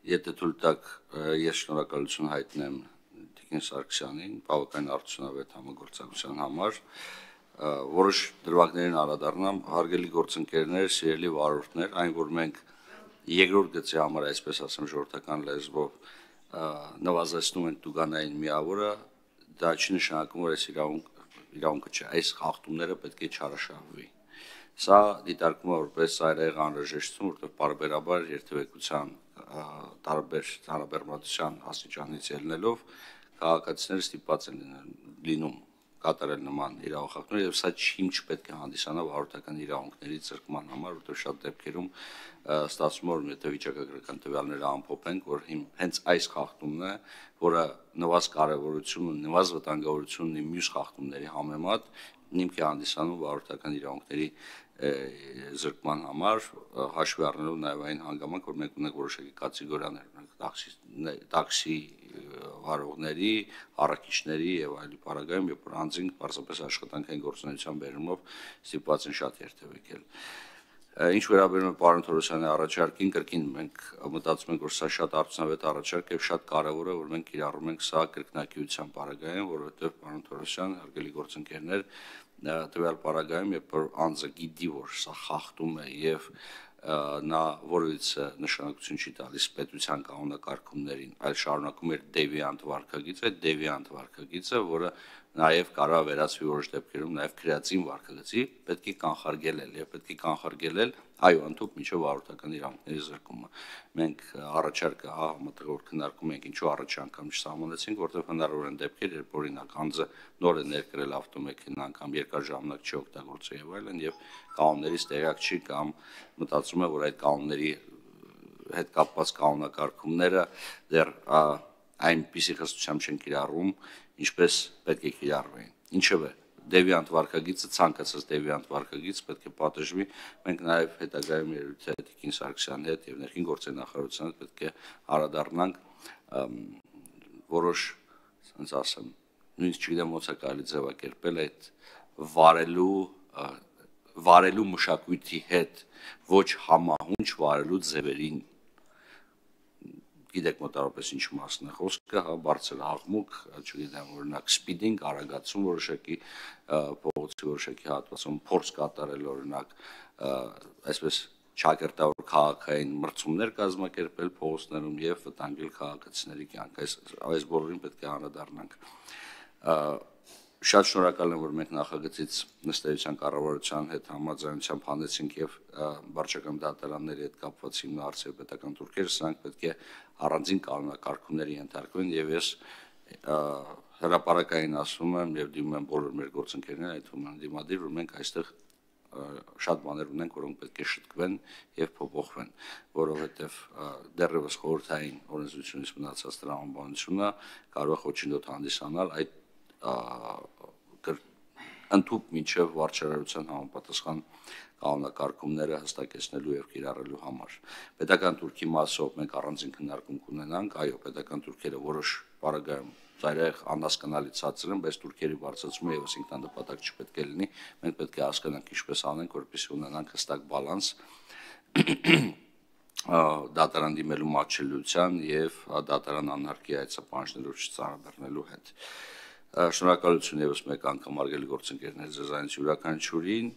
Եթե թույլ տաք, ես շնորհակալություն հայտնեմ Տիկին Սարգսյանին բավական արդյունավետ համագործակցության համար, որոշ դրվագներին անդրադառնամ, հարգելի գործընկերներ, սիրելի վարորդներ, այն որ մենք երկրորդ գծի համար, այսպես ասեմ, ժողովրդական լեզվով նվազեցնում ենք տուգանային միավորը, դա չի նշանակում, որ այս իրավունքը չէ, այս խախտումները պետք է չարաշահվի։ Սա դիտարկվում է որպես ծայրահեղ անհրաժեշտություն, որտեղ պարբերաբար երթևեկության տարբեր հարաբերմատության աստիճանից ելնելով քաղաքացիները ստիպված են լինում կատարել նման իրավախախտումներ եւ սա չպետք է հանդիսանա վարորդական իրավունքների զրկման համար, որտեղ շատ դեպքերում ստացվում է, որ եթե վիճակագրական տվյալները ամփոփենք, որ հենց այս խախտումն է, որը նվազ կարևորություն ունի, նվազ վտանգավորություն ունի մյուս խախտումների համեմատ, հիմք է հանդիսանում վարորդական իրավունքների զրկման համար, հաշվի առնելով նաև այն հանգամանք, որ մենք ունենք որոշակի կատեգորիաներ, տաքսի վարողների, առաքիչների եւ այլի պարագայում, երբ որ անձինք պարզապես աշխատանքային գործունեության բերումով ստիպված են շատ երթևեկել։ Ինչ վերաբերում է պարոն Թորոսյանի առաջարկին, կրկին մենք մտածում ենք, որ սա շատ արդյունավետ առաջարկ է եւ շատ կարեւոր է, որ մենք կիրառում ենք սա կրկնակիության պարագայում, որովհետեւ պարոն Թորոսյան, հարգելի գործընկերներ, տվյալ պարագայում, երբ որ անձը գիտի, որ սա խախտում է եւ նա որևիցե նշանակություն չի տալիս պետության կանոնակարգումներին, այլ շարունակում էր դեվիանտ վարքագիծը, դեվիանտ վարքագիծը, որը նաև կարող վերածվի որոշ դեպքերում նաև քրեատիվ վարքագծի, պետք է կանխարգելել եւ պետք է կանխարգելել այո, ընդհանուր միջով վարորդական իրավունքների զրկումը։ Մենք առաջարկը համատեղ որ քննարկում ենք, ինչու առաջ անգամ չսահմանեցինք, որտեղ հնարավոր են դեպքեր, երբ օրինակ անձը նոր է ներկրել ավտոմեքենա անգամ երկար ժամանակ չի օգտագործել եւ այլն եւ կանոններից տեղյակ չի կամ մտածում է, որ այդ կանոնների հետ կապված կանոնակարգումները դեռ այնպիսի խստությամբ չեն կիրառվում, ինչպես պետք է կիրառվեն։ Ինչևէ, դեվիանտ վարքագիծը ցանկացած դեվիանտ վարքագիծ պետք է պատժվի։ Մենք նաև հետագայում երևի Տիկին Սարգսյանի հետ եւ ներքին գործերի նախարարության հետ պետք է անդրադառնանք որոշ, ասենց ասեմ, նույնիսկ չգիտեմ ոնց է կարելի ձևակերպել այդ վարելու մշակույթի հետ ոչ համահունչ վարելու ձևերին գիտեք մոտավորապես ինչ մասն է խոսքը, հա, բարձր աղմուկ, չգիտեմ, օրինակ սպիդինգ, արագացում որոշակի փողոցի որոշակի հատվածում, փորձ կատարել օրինակ, այսպես ճակերտավոր քաղաքային մրցումներ կազմակերպել փողոցներում եւ վտանգել քաղաքացիների կյանքը, այս բոլորին պետք է անդրադառնանք։ Շատ շնորհակալ եմ, որ մենք նախագծից նստեյության կառավարության հետ համաձայնությամբ հանեցինք եւ վարչական դատարանների հետ կապված հիմնարարցիվ պետական թուրքերը, սրանք պետք է առանձին կանոնակարգումների ենթարկվեն եւ ես հրապարակային ասում եմ եւ դիմում եմ բոլոր մեր գործընկերներին, այդ թվում դիմադիր, որ մենք այստեղ շատ բաներ ունենք, որոնք պետք է շտկվեն եւ փոփոխվեն, որովհետեւ դեռևս խորհրդային օրենսդրությունից մնացած տրամաբանությունը կարող է խոչընդոտ հանդիսանալ այդ ընդհանուր մինչև վարչարարության համապատասխան կանոնակարգումները հստակեցնելու եւ կիրառելու համար։ Պետական թուրքի մասով մենք առանձին քննարկում կունենանք, այո, պետական թուրքերը որոշ պարագայում ծայրահեղ անհասկանալի ցածր են, բայց թուրքերի բարձրացումը եւս ինքնանպատակ չպետք է լինի, մենք պետք է հասկանանք ինչպես անենք, որպեսզի ունենանք հստակ բալանս դատարան դիմելու մատչելիության եւ դատարան անհարկի այցապանջներով չծանրաբեռնելու հետ։ Շնորհակալություն եւս մեկ անգամ արգելի գործընկերներ ձեզանից յուրաքանչյուրին,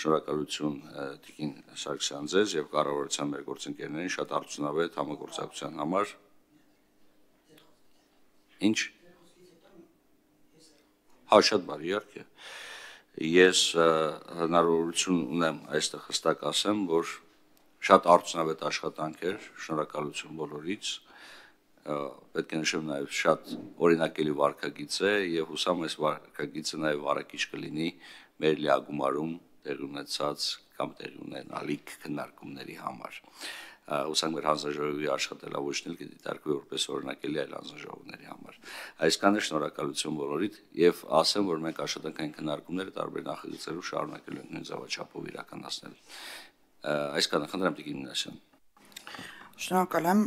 շնորհակալություն Տիկին Սարգսյան ձեզ եւ կառավարության մեր գործընկերներին շատ արդյունավետ համագործակցության համար։ Ինչ։ Հա, շատ բարի, իհարկե։ Ես հնարավորություն ունեմ այստեղ հստակ ասեմ, որ շատ արդյունավետ աշխատանք էր, շնորհակալություն բոլորից։ Պետք է նշեմ նաև շատ օրինակելի վարքագիծ է եւ հուսամ այս վարքագիծը նաև առաքիչ կլինի մեր լիագումարում տեղի ունեցած կամ տեղի ունենալիք քննարկումների համար։ Հուսանք մեր հանձնաժողովի աշխատելավոճն կդիտարկվի որպես օրինակելի այլ հանձնաժողովների համար։ Այսքանը շնորհակալություն բոլորիդ եւ ասեմ, որ մենք աշխատանքային քննարկումները տարբեր նախագծերով շարունակելու ենք նույն ձևաչափով իրականացնել։ Այսքանը խնդրեմ Տիկին Մինասյան։ Շնորհակալ եմ։